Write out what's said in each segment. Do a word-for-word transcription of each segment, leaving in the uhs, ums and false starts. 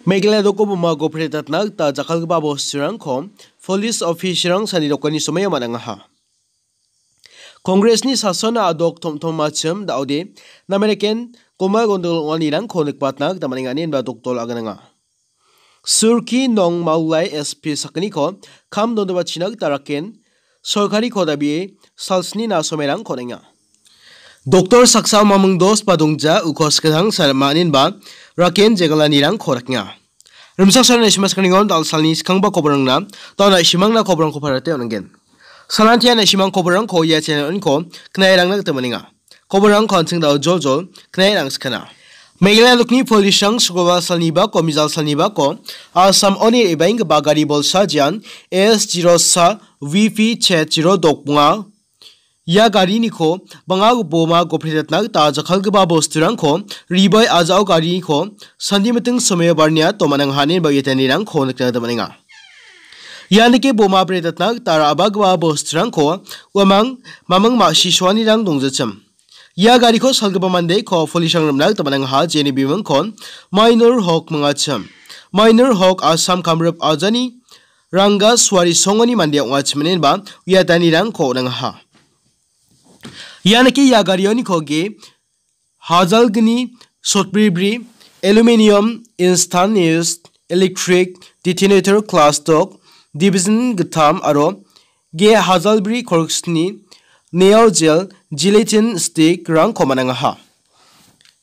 Meghalaya doko bomako pretatna gita jakkalgipa bosturangko police officerrang sani dokani somoio man·angaha. Congressni sasona adok tomtomachim da·ode, nameriken goma gondogol ong·anirangko nikbatna gita man·enga ineba dokdol agananga. Surki Nong Maulai S P sakgniko kam dondobachina gita raken sorkariko dabie salsnina somerangko on·enga. Doktor saksa mamung dos ba dongja uko skadang salma ineba raken jegalanirangko rakenga. Rimsak salna isimas kaningon dal salni skangba koborangna, dal na isimangna koborangko parate on·gen. Salantia na isimang koborangko ia channel-oniko knairangna gita maninga. Koborangko an·ching dal jol jol knairang skana. Meghalaya dokni police-rang sugoba salni bako, mijal salni bako, Assam oni re·baenggipa gari bolsa jian S zero sa V P chet zero dok bonga. Ia gariniko bang·a boma gopretatna gita jakkalgipa bosturangko ribai a·jao gariniko sandi miting someo barnia tomanang hane ba·etanirangko nikna gita man·enga. Ianike boma pretatna gita ra·bagipa bosturangko uamang maming ma·sisoanirang dongjachim. Ia gariko salgipa mandeko police-rang rim·na gita man·angaha, jeni bimingkon Mainur Hok mingachim. Mainur Hok Assam Kamrup ajani Ranga suari songoni mande ong·achim ineba uiatanirangko on·angaha. Ianike ia garioniko ge hajalgni sotbribri, aluminium, stainless, electric, detonator, class dok, division gittam aro ge hajalbri korksni, neo gel, gelatin stick-rangko man·angaha.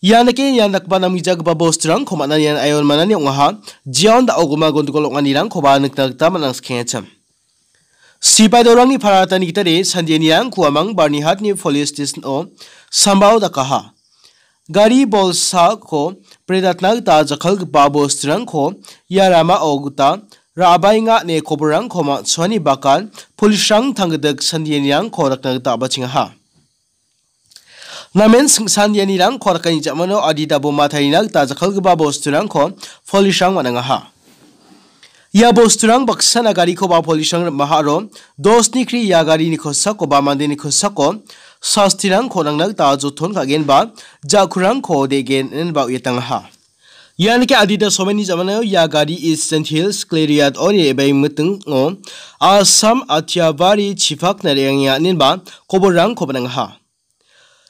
Ianike ian dakgipa namgijagipa bosturangko man·anian aion manani ong·aha. Jiaon da·o goma gondogol ong·anirangkoba nikna gita man·angskengachim. Sipai dorangni paratani gitade sandianirangko amang Barnihatni police station-o sambao dakaha. Gari bolsako pretatna gita jakkalgipa bosturangko ia ramao gita ra·baenga ine koborangko ma·chuani bakan police-rang tanggidik sandianirangko dakna gita a·bachengaha. Namen singsan ianirangko dakani ja·mano adita boma tarina gita jakkalgipa bosturangko police-rang man·angaha. Ia bosturang baksana garikoba police-rang rim·aha aro dosni kri ia garini kosakoba mandeni kosako sastirangko nangna gita joton ka·genba ja·kurangko de·gen ineba uiatangaha. Ianike adita someni ja·manao ia gari Eastern Hills Cleriat oni re·baengmitingo Assam Athiabari chipakna re·angenga ineba koborangko man·angaha.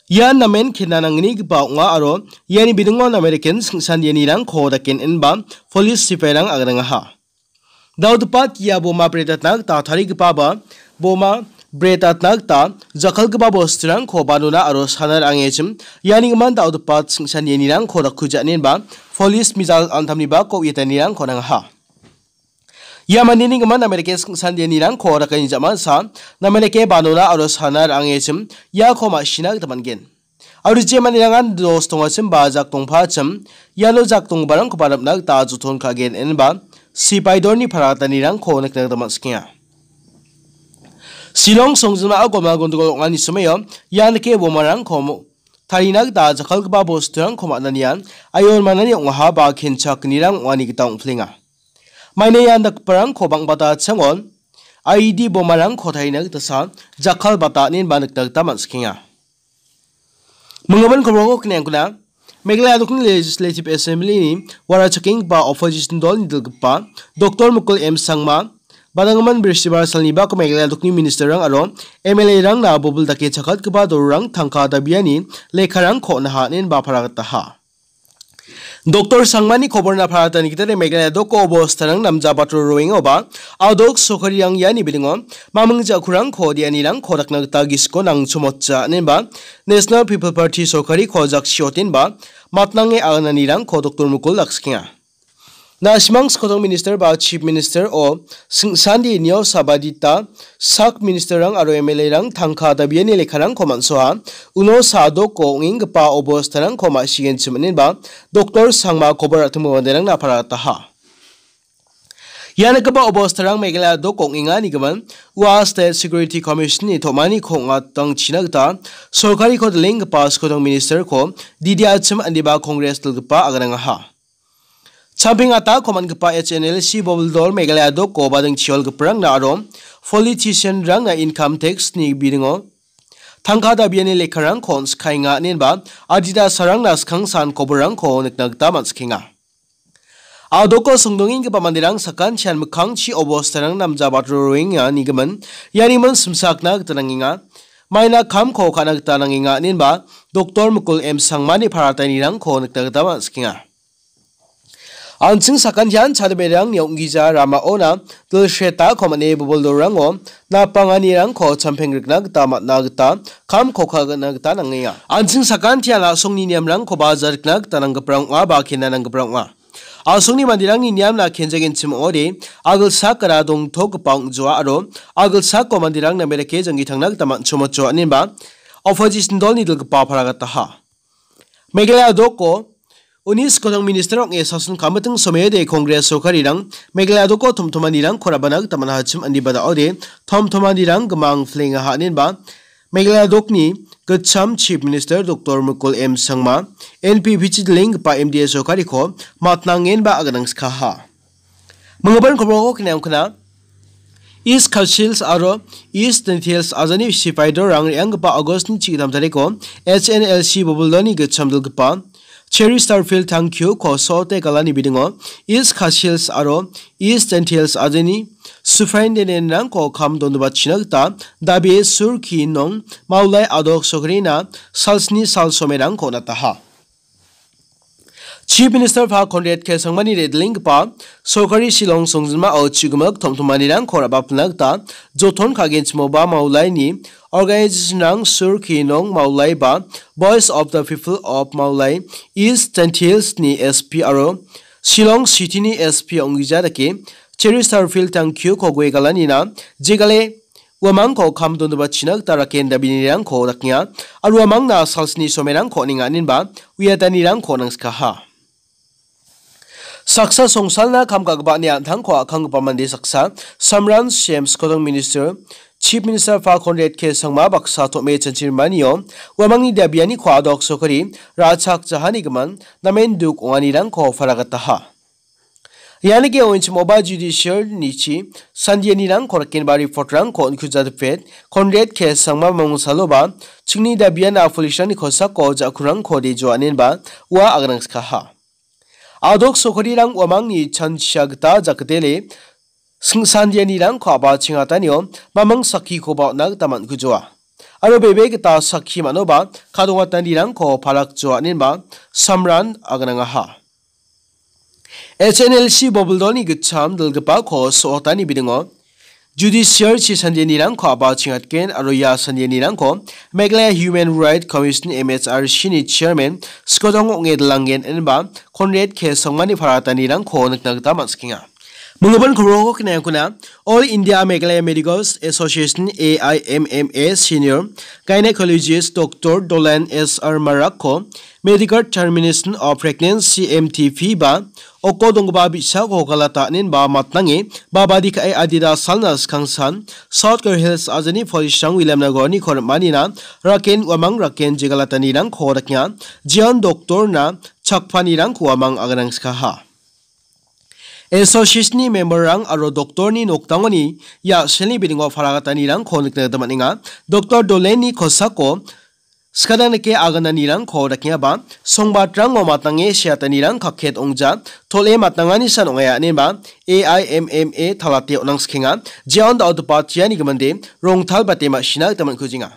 Ian namen kenanangnigipa ong·a aro iani bidingo American singsan ianirangko daken ineba police sipairang agrangaha. Daodipat ia boma pretatna gita tarigipa ba boma pretatna gita jakkalgipa bosturangko banona aro sana ra·angechim ianigimin daodipat singsan ianirangko dakkuja ineba police mijal antamnibako uiatanirangko nangaha. Ia mandeni gimin namerike singsan ianirangko dakani ja·mansa namerike banona aro sana ra·angechim iako ma·sina gita man·gen. Aro je manderangan dos tongachim ba jak dongpachim iano jak donggiparangkoba rim·na gita joton ka·gen ineba sipai dorni paratanirangko nikna gita man·sikenga. Shillong songjinmao goma gondogol ong·ani somoio ianike bomarangko mo-, tarina gita jakkalgipa bosturangko man·anian aion manani ong·aha ba kenchakgnirang ong·ani gita ong·pilenga. Maina ian dakgiparangko bang·bata changon I E D bomarangko tarina gitasa jakkalbata ineba nikna gita man·sikenga. Minggimin koborko kniangkuna, Meghalaya dokni Legislative Assembly-ni wara chakenggipa opposition dolni dilgipa Doktor Mukul M Sangma, badanggimin Bristibar salni bako Meghalaya dokni minister-rang aro M L A-rangna bobil dake chakatgipa dolrang tangka dabiani lekkarangko on·aha ineba paragataha. Doktor Sangmani koborna paratani gitade Meghalaya doko obostarang namja batro roengoba, adok sorkarirang iani bidingo maming ja·kurangko dianirangko dakna gita gisiko nangchomotja ineba National People Party sorkariko jaksiotenba matnange agananirangko Doktor Mukul dakskienga. Na·simang skotong minister ba chief minister o singsandi nio sabadita sak ministerrang aro M L A-rang tangka dabiani lekkarangko man·soa, uno sadoko ong·enggipa obostarangko ma·sigenchim ineba Doktor Sangma kobor ra·timo manderangna parataha. Ia nikgipa obostarang Meghalaya dok ong·enganigimin ua State Security Commission-ni tom·aniko ong·atangchina gita sorkariko dilenggipa skotong ministerko D D achim indiba Congress dilgipa aganangaha. Champing atako man·gipa H N L C bobil dol Meghalaya doko bading chiolgiparangna aro politician-rangna income tax-ni biringo tangka dabiani lekkarangko on·skaenga inenba adita sarangna skangsan koborrangko nikna gita man·skenga. A·doko songdongenggipa manderang sakantian mikkangchi obostarang namjabat roenga nigimin, ianimin simsakna gita nangenga. Maina kamko ka·na gita nangenga, inenba Doktor Mukul M Sangmani paratainirangko nikna gita man·sikenga. An·ching sakantian chadeberangni ong·gija ramaona dilsretako man·e boboldorango napanganirangko champengrikna gita man·a gita kamko ka·na gita nangenga. An·ching sakantian a·songni niamrangkoba jarikna gita nanggiparang ong·a ba kena nanggiparang ong·a. A·songni manderangni niamna kenjagenchim ong·ode, a·gilsakara dongtokgipa ong·joa aro a·gilsako manderang name dake janggi tangna gita man·chomochoa, inenba opposition dolni dilgipa paragataha. Meghalaya doko uni skotong minister ong·e sason kamiting somaiode Congress sorkarirang Meghalaya doko tomtomanirangko rabana gita man·achim, aniba da·ode tomtomanirang gimang flengaha, inenba Meghalaya dokni gitcham Chief Minister Doktor Mukul M Sangma, N P P chi dilenggipa M D A sorkariko matnangenba aganangskaha. Minggipa koborko kena ong·kona. East Khasi Hills aro East Jaintia Hills ajani sipai dorang re·anggipa August-ni chigittam tariko H N L C boboldoni gitcham dilgipa Cheri Starfield tangkiuko so·ote galani bidingo East Khasi Hills aro East Jaintia Hills ajani Superintendent-rangko kam dondobatchina gita dabie Sur Ki Nong Maulai a·dok sorkarina salsni sal somerangko on·ataha. Chief Minister-ba Conrad K Sangmani re·dilenggipa sorkari Shillong songjinmao chigimik tomtomanirangko ra·bapilna gita joton ka·genchimoba Maulaini organization-rang Sur Ki Nong Maulai ba Voice of the People of Maulai East Jaintia Hills-ni S P aro Shillong City-ni S P ong·gija dake Cheri Starfield tangkiuko gue galanina jegale uamangko kam dondobatchina gita raken dabinirangko dakenga, aro uamangna salsni somerangko on·enga, inenba uiatanirangko nangskaha. Saksa songsalna kam ka·gipani an·tangko a·kanggipa mande saksa, Samran C M skotong minister, Chief Minister-ba Conrad K Sangma baksa tom·e chanchimanio uamangni dabianiko a·dok sorkari ra·chakjahani gimin namen duk ong·anirangko paragataha. Ianike oinchimoba judicial nichi sandianirangko rakenba report-rangko on·kuja dipet, Conrad K Sangma mamungsaloba chingni dabiana police-rangni kosako ja·kurangko dejoa, inenba ua aganangskaha. A·dok sorkarirang uamangni chanchia gita jakdele singsandianirangko a·bachengatanio mamung sakkikoba on·na gita man·kujoa. Aro bebe gita sakki man·oba kadongatanirangko parakjoa, inenba Samran aganangaha. H N L C boboldoni gitcham dilgipako so·otani bidingo Judicial chi sandianirangko a·bachengatgen aro ia sandianirangko Meghalaya Human Rights Commission, M H R C-ni chairman Skodong ong·e dilanggen, inenba Conrad K Sangmani paratanirangko nikna gita man·sikenga. Minggipa koborko kena ong·kona. All India Meghalaya Medical Association, A I M M A, Senior Gynecologist Doctor Dolen S R Marakko Medical Termination of Pregnancy, M T P, ba oko donggipa bi·sako galata, inenba matnange babadi ka·e adita salna skangsan South Garo Hills ajani police-rang Williamnagar-niko rim·anina raken uamang raken jegalatanirangko dakenga, jeon doktorna chakpanirangko uamang aganangskaha. Association-ni member-rang aro doktorni nokdangoni ya·selni bidingo paragatanirangko nikna gita man·enga. Doktor Dolenni kosako skadang dake agananirangko dakengaba, songbatrango matnange seatanirang kakket ong·ja, tol·e matnangani san ong·aia ineba A I M M A talate on·angsikenga. Jeon da·otopa tiani giminde rongtalbate ma·sina gita man·kujenga.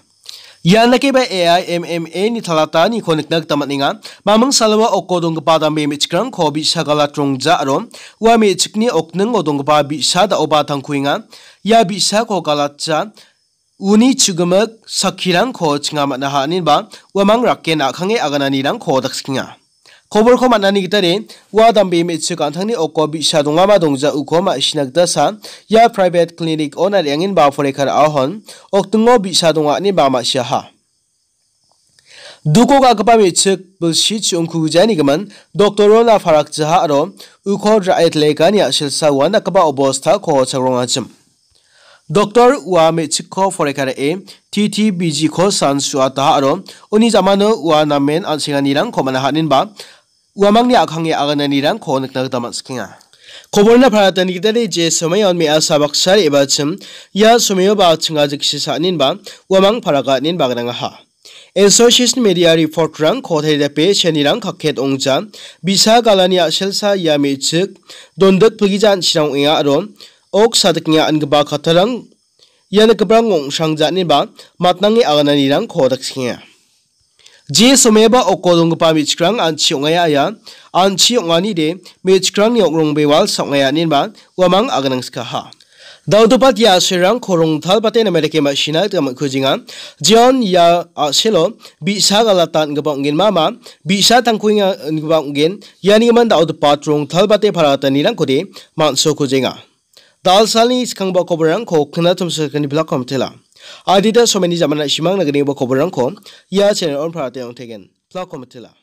Ian dakeba A I M M A ni talataniko nikna gita man·enga. Maming saloa oko donggipa dambe me·chikrangko bi·sa galat rongja aro ua me·chikni okningo donggipa bi·sa da·oba tangkuenga. Ia bi·sako galatja uni chigimik sakkirangko chinga man·aha, ineba uamang raken a·kange agananirangko dakskikenga. Koborko man·ani gitade, ua dambe me·chik an·tangni oko bi·sa dongama dongja uko ma·sina gita sa, ia private clinic-ona re·angenba poreka ra·ahon, okdingo bi·sa donga ineba ma·siaha. Duko ga·gipa me·chik bilsi chi·ongkugijaani gimin, doktorona parakjaha aro uko ra·e lekani a·selsa uandakgipa obostako chagrongachim. Doktor ua me·chikko poreka ra·e, T T B G-ko san su·ataha aro uni jamano ua namen an·senganirangko man·aha ineba uamangni a·kange agananirangko nikna gita man·sikenga. Koborna paratani gitade je somayon me·asa baksa re·bachim, ia somayoba chinga jiksa sa ineba uamang paraga ineba gnangaha. Association Media Report-rangko taridape Chinarang kaket ongja, bi·sa galani a·selsa ia me·chik dondik pilgija an·chirang ong·enga aro ok sadikenga ingipa kattarang ia nikgiparang ong·srangja ineba matnange agananirangko daksenga. Je somaiaba oko donggipa me·chikrang an·chi ong·aia, an·chi ong·anide me·chikrangni ong·rongbe wal sa ong·aia ineba uamang aganangskaha. Dal·gipa ia a·selrangko rongtalbate name dake ma·sina gita man·kujenga. Jeon ia a·selo bi·sa galata ingipa ong·genmama, bi·sa tangkuenga ingipa ong·gen, ianigimin dal·gipa rongtalbate paragatanirangkode man·sokujenga. Dalsalni skanggipa koborrangko knatomsokani bilakko mitela. Adita someni jamana simang nagnigipa koborrangko ia channel on parate ong·tegen. Bilakko mitela.